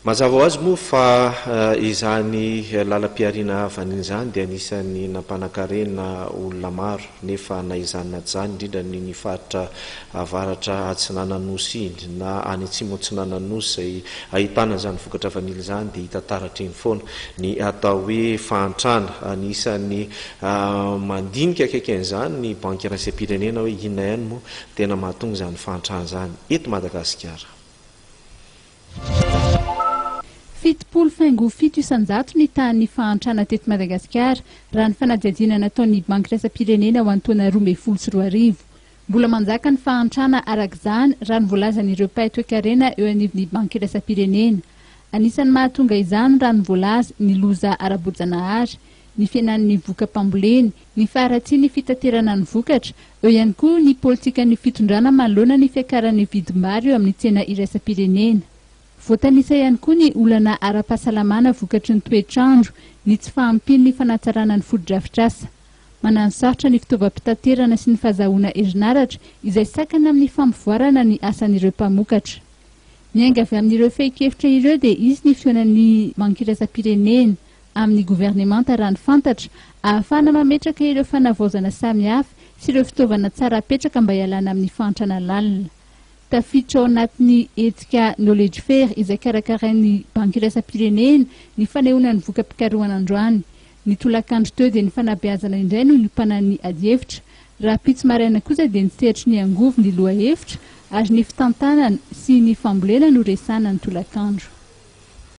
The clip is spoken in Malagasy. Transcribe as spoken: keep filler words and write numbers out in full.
Mazava ho azy moa fa izany lalam-pihariana vanily izany dia anisan'ny nampanan-karena olona maro, nefa na izany na tsy izany, indrindra ny ny faritra avaratra atsinanan'ny nosy iny na any atsimo atsinanan'ny nosy izay ahitana izany vokatra vanily izany, dia hita taratra eny foana ny atao hoe fahantrana. Anisan'ny mandinika akaiky an'izany ny Banky iraisam-pirenena hoe inona ihany moa tena mahatonga izany fahantrana izany eto Madagasikara. Fitopolo faingo fito isanjato ny tahan'ny fahantrana teto Madagasikara raha ny fanadihadiana nataon'ny Banky iraisam-pirenena ho an'ny taona roa ambin'ny folo sy roa arivo. Mbola manjaka ny fahantrana arak'izany raha ny voalazan'ireo mpahay toekarena eo anivon'ny Banky iraisam-pirenena. Anisan'ny mahatonga izany raha ny voalaza ny loza ara-boajanahary, ny fihenan'ny voka-pambolena, ny faharatsian'ny fitaterana ny vokatra, eo ihany koa ny politikan'ny fitondrana manoloana ny fiakaran'ny vidim-bary eo amin'ny tsena iraisam-pirenena. Voatanisa ihany koa ny olana ara-pahasalamana vokatry ny toetrandro, ny tsy fahampian'ny fanatsarana ny fotodrafitrasa. Mananosarotra ny fitaovam-pitaterana sy ny fahazahoana herinaratra izay sakana amin'ny fampivoarana ny asan'ireo mpamokatra. Miainga avy amin'ireo fehin-kevitra ireo dia izy ny fihaonan'ny Banky iraisam-pirenena amin'ny governemanta raha ny fantatra, ahafahana mametraka ireo fanavaozana samihafa sy ireo fitaovana tsara apetraka mba hialana amin'ny fahantrana lalina. Tafiditra ao anatin'ny hetsika Knowledge Fair izay karakarain'ny Banky iraisam-pirenena ny fanehoana ny voka-pikarohana androany. Ny tolakandro teo dia ny fanabeazana indray no niompanan'ny adihevitra. Rahampitso maraina kosa dia ny sehatry ny angovo ny lohahevitra ary ny fitantanana sy ny fambolena no resahana ny tolakandro.